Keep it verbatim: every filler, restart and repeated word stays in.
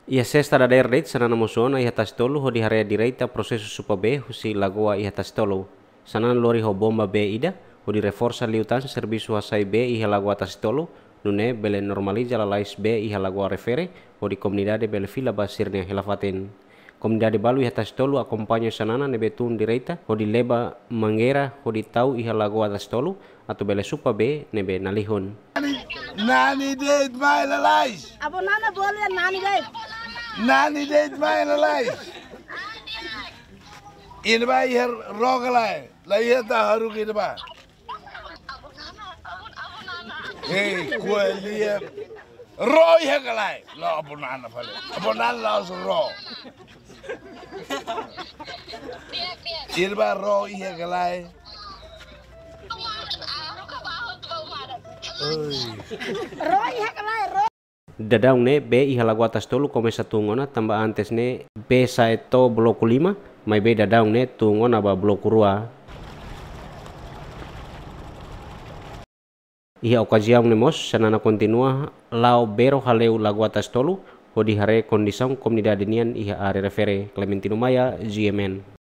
Iha sesta dadeer de'it, Xanana mosu ona iha Tasitolu hodi haree direta prosesu supa bee husi lagoa iha Tasitolu. Xanana lori ho bomba bee ida hodi reforsa liután servisu hasai bee iha lagoa Tasitolu, nune'e bele normaliza lalais bee iha lagoa refere, hodi komunidade bele fila ba sira-nia hela-fatin. Komunidade balu iha Tasitolu akompaña Xanana ne'ebé tun direta hodi leba mangeira hodi tau iha lagoa Tasitolu atu bele supa bee ne'ebé nalihun. Nani de'it mai lalais. Avó Nana bolu iha Nani de'it. Nani de'it mai lalais. Iha ne'ebá iha ró ka lae? La iha, ita haruka iha ne'ebá. Hei, ko'alia. Ró iha ka lae? La'ós Avó Nana fali. Avó Nana la'ós ró. Iha ne'ebá ró iha ka lae? Ró iha ka lae, ró. Daudaun ne'e bee iha lagoa Tasitolu komesa tun ona, tanba antes ne'e bee sa'e to'o bloku lima, maibé daudaun ne'e tun ona ba bloku rua. Iha okaziaun ne'e mós, Xanana kontinua la'o bero hale'u lagoa Tasitolu hodi haree kondisaun komunidade nian iha área refere. Clementino Maia, G M N.